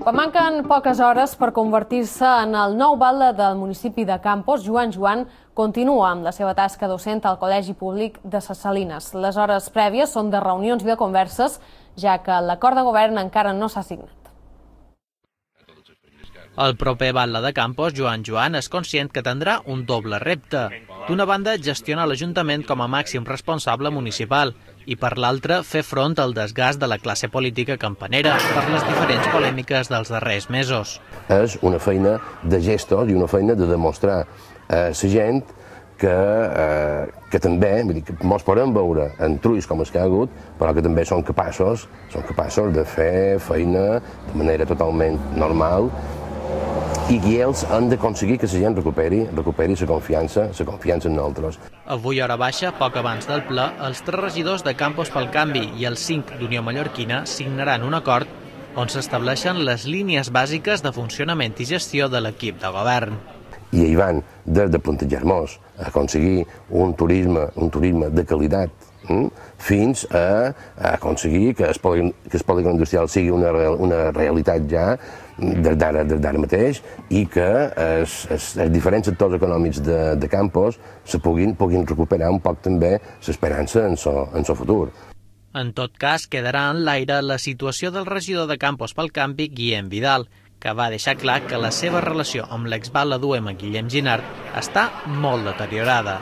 Quan manquen poques hores per convertir-se en el nou batlle del municipi de Campos, Joan continua amb la seva tasca docent al Col·legi Públic de Ses Salines. Les hores prèvies són de reunions i de converses, ja que l'acord de govern encara no s'ha signat. El proper batlle de Campos, Joan, és conscient que tindrà un doble repte. D'una banda, gestionar l'Ajuntament com a màxim responsable municipal i, per l'altra, fer front al desgast de la classe política campanera per les diferents polèmiques dels darrers mesos. És una feina de gestos i una feina de demostrar a la gent que també, que ens podem veure en trulls com els que hi ha hagut, però que també són capaços de fer feina de manera totalment normal i que ells han d'aconseguir que la gent recuperi la confiança en nosaltres. Avui, hora baixa, poc abans del ple, els 3 regidors de Campos pel Canvi i els 5 d'Unió Mallorquina signaran un acord on s'estableixen les línies bàsiques de funcionament i gestió de l'equip de govern. I hi van des de plantejar-nos a aconseguir un turisme de qualitat fins a aconseguir que el polígon industrial sigui una realitat ja des d'ara mateix i que els diferents sectors econòmics de Campos se puguin recuperar un poc també l'esperança en el futur. En tot cas, quedarà en l'aire la situació del regidor de Campos pel Canvi, Guillem Vidal, que va deixar clar que la seva relació amb l'exbatlle d'UEM, Guillem Ginard, està molt deteriorada.